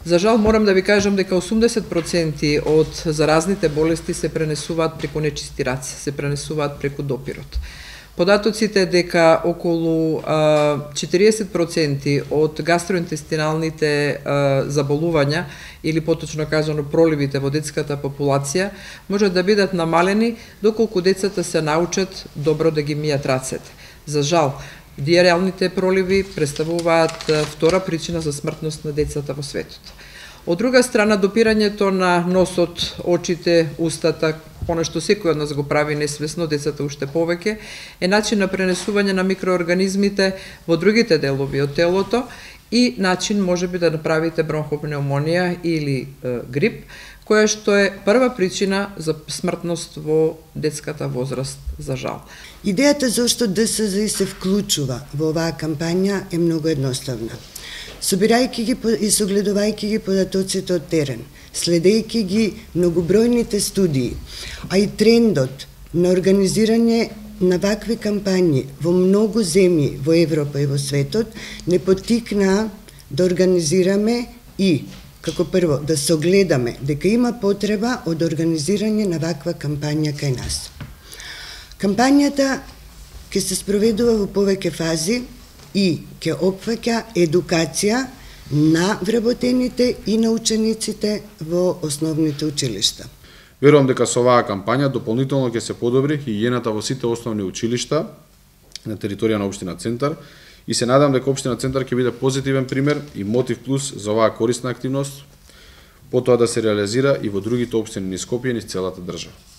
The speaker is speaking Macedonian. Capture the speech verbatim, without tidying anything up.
За жал морам да ви кажам дека осумдесет проценти од заразните болести се пренесуваат преку нечисти раце, се пренесуваат преку допирот. Податоците дека околу четириесет проценти од гастроинтестиналните заболувања или поточно кажано проливите во детската популација можат да бидат намалени доколку децата се научат добро да ги мијат рацете. За жал, диареалните проливи представуваат втора причина за смртност на децата во светот. Од друга страна, допирањето на носот, очите, устата, понешто секој од нас го прави несвесно, децата уште повеќе, е начин на пренесување на микроорганизмите во другите делови од телото и начин можеби да направите бронхопнеумонија или е, грип, која што е прва причина за смртност во детската возраст, за жал. Идејата зашто ДСЗ се вклучува во оваа кампања е многу едноставна. Собирајќи ги и согледувајќи ги податоците од терен, следејќи ги многобројните студии, а и трендот на организирање на вакви кампањи во многу земји во Европа и во светот не поттикнаа да организираме и, како прво, да согледаме дека има потреба од организирање на ваква кампања кај нас. Кампањата ќе се спроведува во повеќе фази и ќе опфаќа едукација на вработените и на учениците во основните училишта. Верувам дека со оваа кампања дополнително ќе се подобри хигиената во сите основни училишта на територија на општина Центар и се надам дека општина Центар ќе биде позитивен пример и мотив плюс за оваа корисна активност, потоа да се реализира и во другите општини низ Скопје и низ целата држава.